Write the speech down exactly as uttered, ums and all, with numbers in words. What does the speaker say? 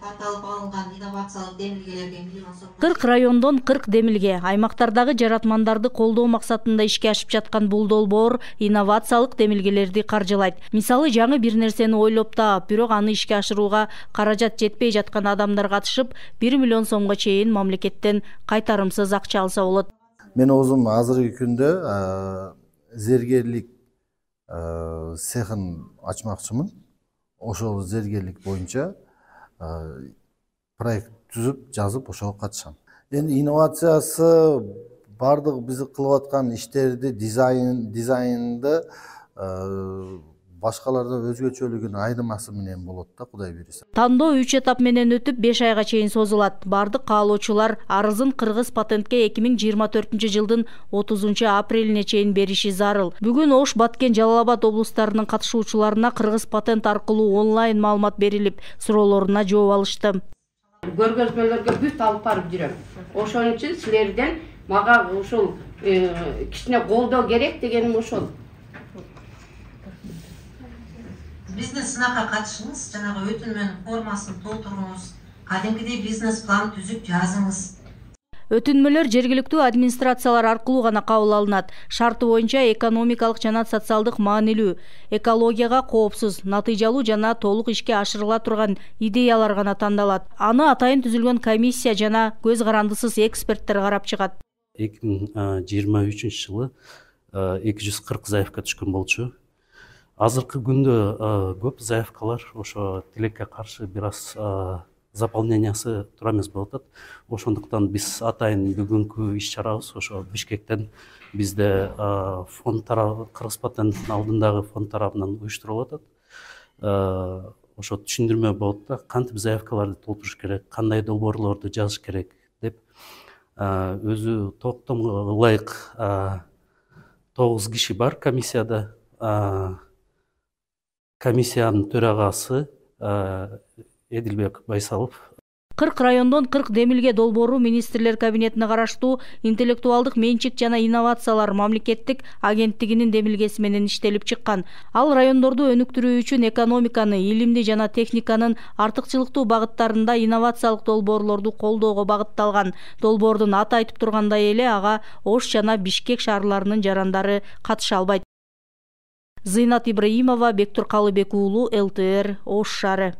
тарталып алынган инновациялык демилгелерге миллион сом. кырк райондон кырк демилге аймактардагы жаратмандарды колдоо максатында ишке ашып жаткан бул долбоор инновациялык демилгелерди каржылайт. Мисалы, жаңы бир нерсени ойлоп таап, бирок аны ишке ашырууга каражат жетпей жаткан адамдар катышып, бир миллион сомго чейин мамлекеттен кайтарымсыз акча алса болот. Мен өзүм азыркы күндө зергерлик цехин ачмакчымын. Ошол зергерлик боюнча проект түзүп, жазып, ошого катышам. Эми инновациясы бардык биз кылып аткан иштерди, дизайн, дизайнды башкалардан өзгөчөлүгүн айырмасы менен болот да, Кудай буйруса. Тандоо үч этап менен өтүп беш айга чейин созулат. Бардык каалоочулар арызын Кыргыз патентке эки миң жыйырма төртүнчү жылдын отузунчу апрелине чейин бериши зарыл. Бүгүн Ош, Баткен, Жалал Абад облустарынын катышуучуларына Кыргыз патент аркылуу онлайн маалымат берилип, суроолоруна жооп алышты. Көргөзмөлөргө бүт алып барып жүрөм. Ошон үчүн силерден мага ушул кичине колдоо керек дегеним ошол. Бизнес сынакка катышыңыз, жанагы өтүнмөнүн формасын толтуруңуз, кадимкидей бизнес план түзүп жазыңыз. Өтүнмөлөр жергиликтүү администрациялар аркылуу гана кабыл алынат. Шарты боюнча экономикалык жана социалдык маанилүү, экологияга коопсуз, натыйжалуу жана толук ишке ашырыла турган идеялар гана тандалат. Аны атайын түзүлгөн комиссия жана көз карандысыз эксперттер карап чыгат. эки миң жыйырма үчүнчү жылы эки жүз кырк заявка түшкөн болчу. Азыркы күндө көп заявкалар ошо тилекке каршы бир аз заполнениясы туура эмес болуп атат. Ошондуктан биз атайын бүгүнкү иш-чарабыз ошо Бишкектен бизде фонд тарабы, Кыргыз патенттин алдындагы фонд тарабынан уюштурулуп атат. Ошо түшүндүрмө болот да, кантип заявкаларды толтуруш керек, кандай долбоорлорду жазыш керек деп өзү токтомго ылайык тогуз киши бар комиссияда. Комиссиянын төрагасы Эдилбек Байсалов. кырк райондон кырк демилге долбоору министрлер кабинетине караштуу интеллектуалдык менчик жана инновациялар мамлекеттик агенттигинин демилгеси менен иштелип чыккан. Ал райондорду өнүктүрүү үчүн экономиканы, илимди жана техниканын артыкчылыктуу багыттарында инновациялык долбоорлорду колдоого багытталган. Долбоордун аты айтып тургандай эле, ага Ош жана Бишкек шаарларынын жарандары катыша албайт. Зыйнат Ибраимова, Бектур Калыбек уулу, эл тэ эр, Ош шаары.